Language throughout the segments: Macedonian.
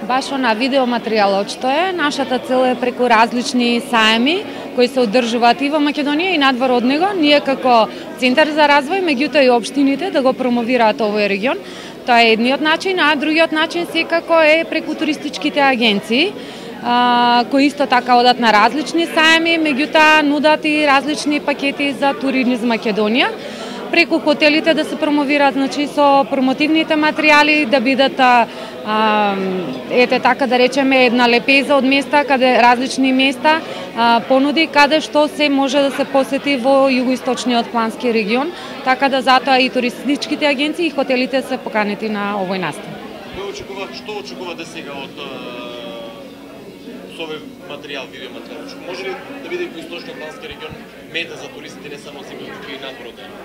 Баш на видеоматеријалот што е, нашата цел е преку различни саеми кои се одржуваат и во Македонија и надвор од него, ние како Центар за развој, меѓутоа и општините да го промовираат овој регион. Тоа е едниот начин, а другиот начин секако е преку туристичките агенции, кои исто така одат на различни саеми, меѓутоа нудат и различни пакети за туризм Македонија. Преку хотелите да се промовираат, значи со промотивните материјали, да бидат ете така да речеме една лепеза од места, каде различни места, понуди каде што се може да се посети во југоисточниот плански регион, така да затоа и туристичките агенции и хотелите се поканети на овој настан. Што очекувате сега од со овој материјал, видеоматеријал? Може ли да биде југоисточниот плански регион мета за туристите не само зимно, туку и надвор од него?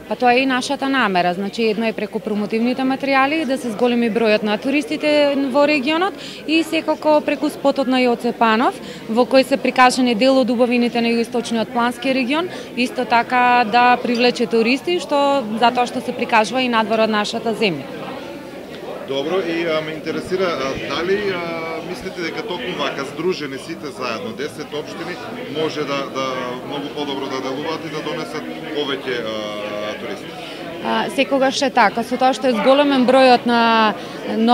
Па тоа е и нашата намера, значи едно е преку промотивните материјали да се зголеми бројот на туристите во регионот и секако преку спотот на Јоце Панов, во кој се прикажани дел од убавините на југоисточниот плански регион, исто така да привлече туристи, што затоа што се прикажува и надвор од нашата земја. Добро, и ме интересира дали мислите дека токму вака здружени сите заедно 10 општини може да многу подобро да делуваат и да донесат повеќе туристи? Секогаш е така, со тоа што е зголемен бројот на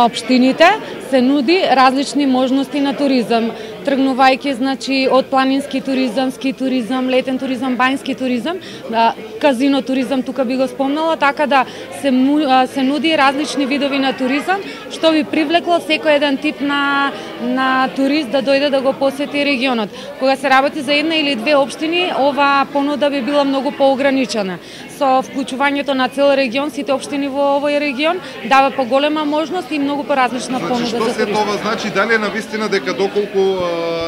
општините, се нуди различни можности на туризам, тргнувајќи значи од планински туризам, ски туризам, летен туризам, бањски туризам, казино туризам тука би го спомнала, така да се нуди различни видови на туризам, што би привлекло секој еден тип на турист да дојде да го посети регионот. Кога се работи за една или две општини, ова понуда би била многу поограничена. Со вклучувањето на цел регион, сите општини во овој регион дава поголема можност и многу поразлична понуда за туристи. Што се тоа значи? Дали е навистина дека доколку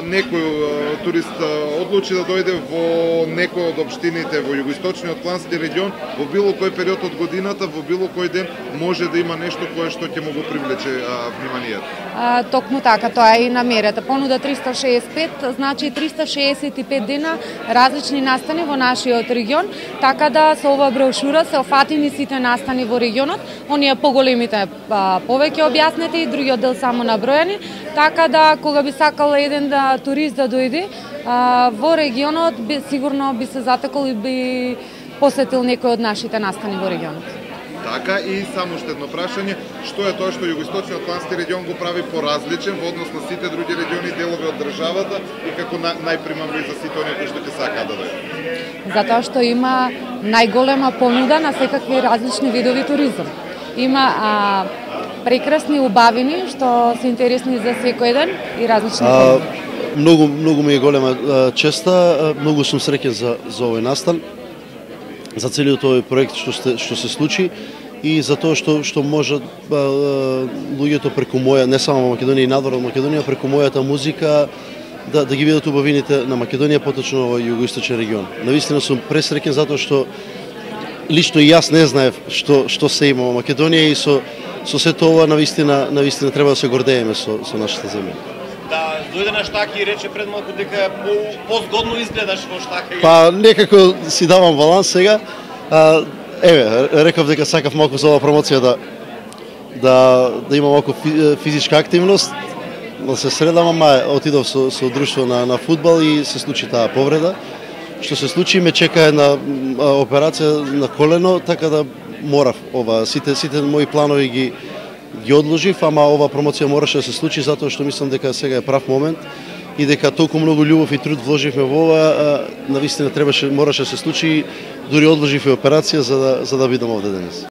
некој турист одлучи да дојде во некој од општините во југоисточниот плански регион, во било кој период од годината, во било кој ден може да има нешто кое што ќе му го привлече вниманието? Токму така, тоа е и намерата. Понуда 365, значи 365 дена различни настани во нашиот регион, така да со ова брошура се офатени сите настани во регионот, оние поголемите повеќе објаснети, другиот дел само набројани, така да кога би сакал еден турист да дојде во регионот, сигурно би се затекол и би посетил некој од нашите настани во регионот. Така, и само уште едно прашање, што е тоа што југоисточниот плански регион го прави поразличен во однос на сите други региони и делови од државата и како најпримамлив за сите оние кои што ќе сакаат да дојдат? Затоа што има најголема понуда на секакви различни видови туризам. Има прекрасни убавини што се интересни за секој еден и различни понуди. Многу ми е голема честа, многу сум среќен за овој настан, за целиот овој проект што се случи и за тоа што може луѓето преку моја, не само во Македонија и надвор од Македонија, преку мојата музика да ги видат убавините на Македонија, поточно во југоисточен регион. Навистина сум пресреќен затоа што лично и јас не знаев што се има во Македонија и со сето ова навистина треба да се гордееме со нашата земја. Да, дојде на штаки и рече пред малку дека позгодно изгледаш во штака. Па некако си давам баланс сега. Еве, реков дека сакав малку за оваа промоција да има малку физичка активност. Да се средам, ама отидов со друштво на фудбал и се случи таа повреда. Што се случи, ме чека една операција на колено, така да морав сите мои планови ги одложив, ама ова промоција мораше да се случи затоа што мислам дека сега е прав момент и дека толку многу љубов и труд вложивме во ова, навистина мораше да се случи, дури одложив и операција за да бидам овде денес.